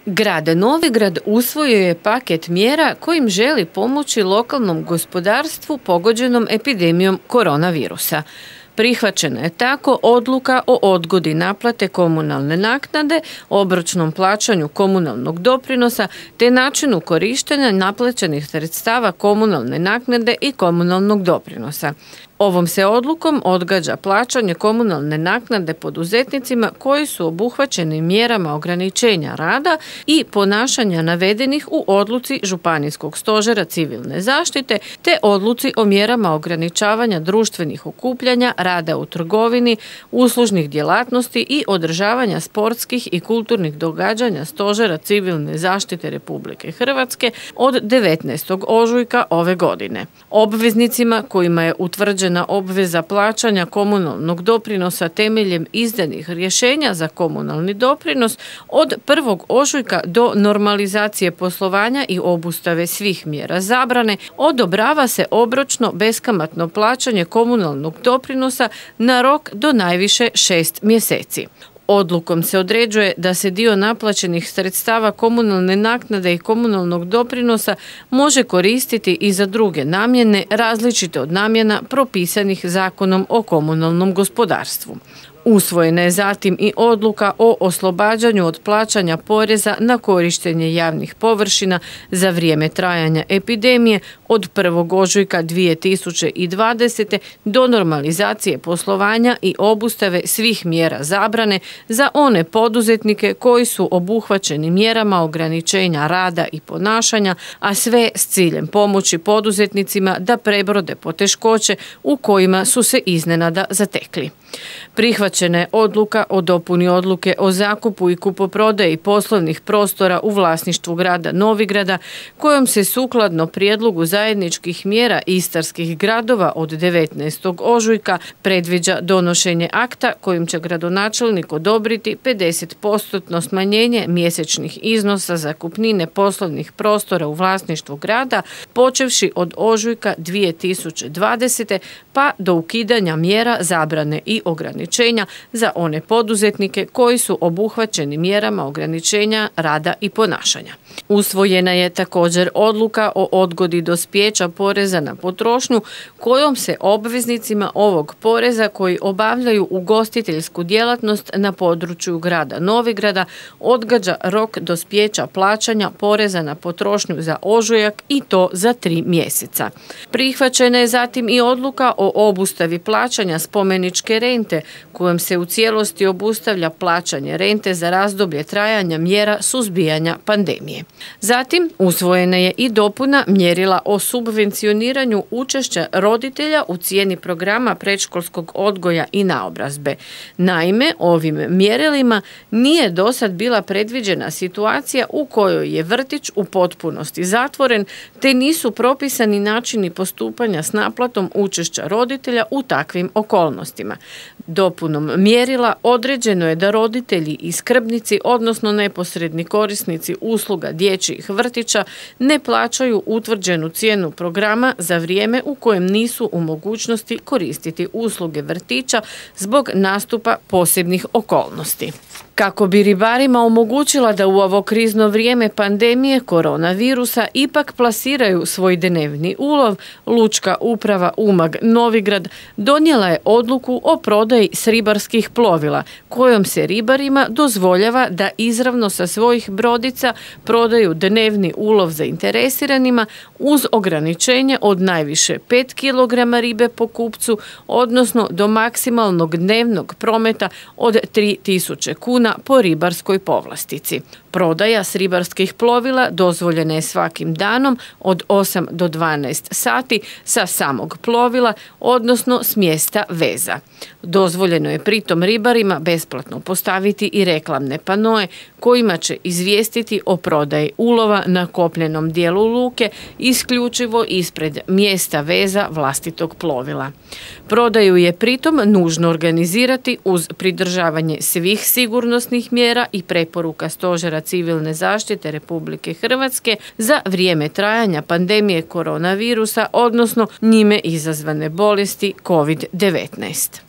Grad Novigrad usvojio je paket mjera kojim želi pomoći lokalnom gospodarstvu pogođenom epidemijom koronavirusa. Prihvaćena je tako odluka o odgodi naplate komunalne naknade, obročnom plaćanju komunalnog doprinosa te načinu korištenja naplaćenih sredstava komunalne naknade i komunalnog doprinosa. Ovom se odlukom odgađa plaćanje komunalne naknade poduzetnicima koji su obuhvaćeni mjerama ograničenja rada i ponašanja navedenih u odluci Županijskog stožera civilne zaštite te odluci o mjerama ograničavanja društvenih okupljanja, rada u trgovini, uslužnih djelatnosti i održavanja sportskih i kulturnih događanja Stožera civilne zaštite Republike Hrvatske od 19. ožujka ove godine. Obveznicima kojima je utvrđena obveza plaćanja komunalnog doprinosa temeljem izdanih rješenja za komunalni doprinos od 1. ožujka do normalizacije poslovanja i obustave svih mjera zabrane odobrava se obročno beskamatno plaćanje komunalnog doprinosa na rok do najviše 6 mjeseci. Odlukom se određuje da se dio naplaćenih sredstava komunalne naknade i komunalnog doprinosa može koristiti i za druge namjene različite od namjena propisanih Zakonom o komunalnom gospodarstvu. Usvojena je zatim i odluka o oslobađanju od plaćanja poreza na korištenje javnih površina za vrijeme trajanja epidemije od 1. ožujka 2020. do normalizacije poslovanja i obustave svih mjera zabrane za one poduzetnike koji su obuhvaćeni mjerama ograničenja rada i ponašanja, a sve s ciljem pomoći poduzetnicima da prebrode poteškoće u kojima su se iznenada zatekli. Prihvaćena je odluka o dopuni odluke o zakupu i kupoprodaji poslovnih prostora u vlasništvu grada Novigrada, kojom se sukladno prijedlogu zajedničkih mjera istarskih gradova od 19. ožujka predviđa donošenje akta kojim će gradonačelnik odobriti 50% smanjenje mjesečnih iznosa zakupnine poslovnih prostora u vlasništvu grada, počevši od ožujka 2020. pa do ukidanja mjera zabrane i ograničenja za one poduzetnike koji su obuhvaćeni mjerama ograničenja rada i ponašanja. Usvojena je također odluka o odgodi dospijeća poreza na potrošnju kojom se obveznicima ovog poreza koji obavljaju ugostiteljsku djelatnost na području grada Novigrada odgađa rok dospijeća plaćanja poreza na potrošnju za ožujak i to za 3 mjeseca. Prihvaćena je zatim i odluka o obustavi plaćanja spomeničke rente kojom se u cijelosti obustavlja plaćanje rente za razdoblje trajanja mjera suzbijanja pandemije. Zatim usvojena je i dopuna mjerila o subvencioniranju učešća roditelja u cijeni programa predškolskog odgoja i naobrazbe. Naime, ovim mjerilima nije dosad bila predviđena situacija u kojoj je vrtić u potpunosti zatvoren te nisu propisani načini postupanja s naplatom učešća roditelja u takvim okolnostima. Dopunom mjerila određeno je da roditelji i skrbnici, odnosno neposredni korisnici usluga dječjih vrtića, ne plaćaju utvrđenu cijenu programa za vrijeme u kojem nisu u mogućnosti koristiti usluge vrtića zbog nastupa posebnih okolnosti. Kako bi ribarima omogućila da u ovo krizno vrijeme pandemije koronavirusa ipak plasiraju svoj dnevni ulov, Lučka uprava Umag Novigrad donijela je odluku o prodaji s ribarskih plovila, kojom se ribarima dozvoljava da izravno sa svojih brodica prodaju dnevni ulov zainteresiranima uz ograničenje od najviše 5 kg ribe po kupcu, odnosno do maksimalnog dnevnog prometa od 3.000 kuna po ribarskoj povlastici. Prodaja s ribarskih plovila dozvoljena je svakim danom od 8 do 12 sati sa samog plovila, odnosno s mjesta veza. Dozvoljeno je pritom ribarima besplatno postaviti i reklamne panoe kojima će izvijestiti o prodaji ulova na kopnenom dijelu luke isključivo ispred mjesta veza vlastitog plovila. Prodaju je pritom nužno organizirati uz pridržavanje svih sigurnosnih mjera i preporuka Stožera civilne zaštite Republike Hrvatske za vrijeme trajanja pandemije koronavirusa, odnosno njime izazvane bolesti COVID-19.